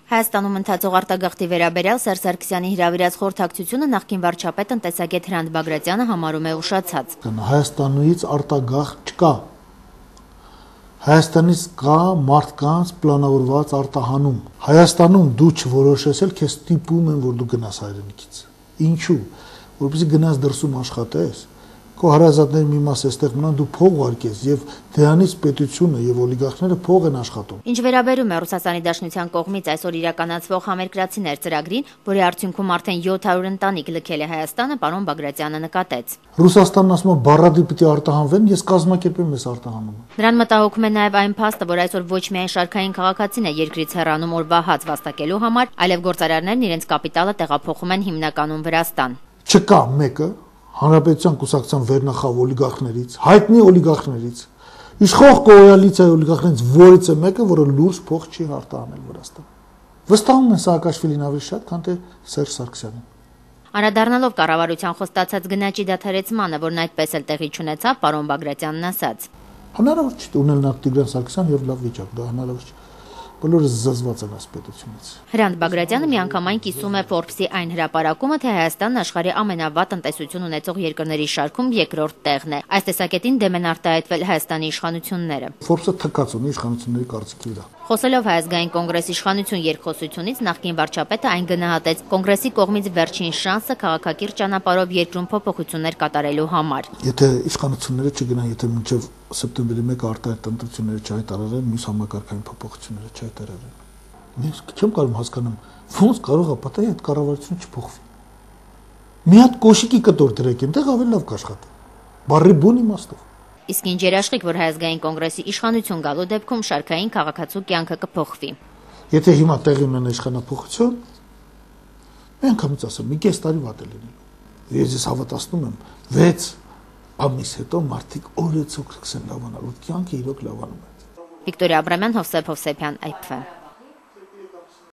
Հայաստանում ընթացող արտագաղթի վերաբերյալ Սերժ Սարգսյանի հրավիրած խորհրդակցությունը նախկին վարչապետ տնտեսագետ Հրանտ Բագրատյանը համարում է ուշացած։ Հայաստանից արտագաղթ չկա։ Հայաստանից կա մարդկանց պլանավորված արտահանում։ Հայաստանում դու չորոշես էլ քեզ ստիպում են, որ դու գնաս հայրենիքից։ Ինչու՞։ Որպեսզի գնաս դրսում աշխատես, քո հարազատների մի մասը այստեղ մնան, դու փող ուղարկես եւ դրանից պետությունը եւ օլիգարխները փող են աշխատում։ Ինչ վերաբերում է Ռուսաստանի Դաշնության կողմից այսօր իրականացվող համերկրացիներ ծրագրին, որի արդյունքում արդեն 700 ընտանիք լքել է Հայաստանը, պարոն Բագրատյանը նկատեց։ Ռուսաստանն ասում է բառադի պիտի արտահանվեն, ես կազմակերպեմ այս արտահանումը։ Նրան մտահոգում է նաև այն փաստը, որ այսօր ոչ միայն շարքային քաղաքացին է երկրից հեռանում օրվա հաց վաստակելու համար, այլև գործարարներն իրենց կապիտալը տեղափոխում են հիմնականում Վրաստան։ Չկա մեկը Հանրապետության կուսակցության վերնախավ օլիգարխներից, հայտնի օլիգարխներից, իշխող կոալիցիայի օլիգարխներից որից է մեկը, որը լուրջ փող չի արտահանել Վրաստան։ Վստահում են Սաակաշվիլին ավելի շատ, քան թե Սերժ Սարգսյանին։ Անդրադառնալով կառավարության խոստացած գնաճի դադարեցմանը, որն այդպես էլ տեղի չունեցավ, պարոն Բագրատյանն ասաց. Հնարավոր չէ ունել նա Տիգրան Սարգսյան եւ լավ վիճակ, դա հնարավոր չէ։ Բոլորը զզված են այս պետությունից։ Հրանտ Բագրատյանը միանգամայն կիսում է Forbes-ի այն հրապարակումը, թե Հայաստանն աշխարհի ամենավատ տնտեսություն ունեցող երկրների շարքում երկրորդ տեղն է։ Այս տեսակետին դեմ են արտահայտվել Հայաստանի իշխանությունները։ Forbes-ը թքած ունի իշխանությունների կարծիքի վրա։ Խոսելով Հայ ազգային կոնգրեսի իշխանություն երկխոսությունից նախկին վարչապետը այն գնահատեց կոնգրեսի կողմից վերջին շանսը քաղաքակիրթ ճանապարհով երկրում փոփոխություններ կատարելու համար։ Եթե իշխանությունները չգնան, եթե մինչև սեպտեմբերի 1-ը արտահայտ ընտրությունները չհայտարարեն, մյուս համակարգային փոփոխությունները չհայտարարեն։ Ես չեմ կարող հասկանամ, ոնց կարող է պատահի այդ կառավարությունը չփոխվի։ Մի հատ կոշիկի կտոր դրեք այնտեղ ավելի լավ կաշխատի։ Բարի բուն իմաստով։ Իսկ ինչ երաշխիք, որ Հայ ազգային կոնգրեսի իշխանություն գալու դեպքում շարքային քաղաքացու կյանքը կփոխվի։ Եթե հիմա տեղի ունենա իշխանափոխություն, մենք համից ասեմ, մի կես տարի վատ է լինելու։ Ես հավատացնում եմ, 6 ամիս հետո մարդիկ օրեցօր կսեն լավանալ, որ կյանքը իրոք լավանում է։ Վիկտորիա Աբրամյան, Հովսեփ Հովսեփյան, IPV։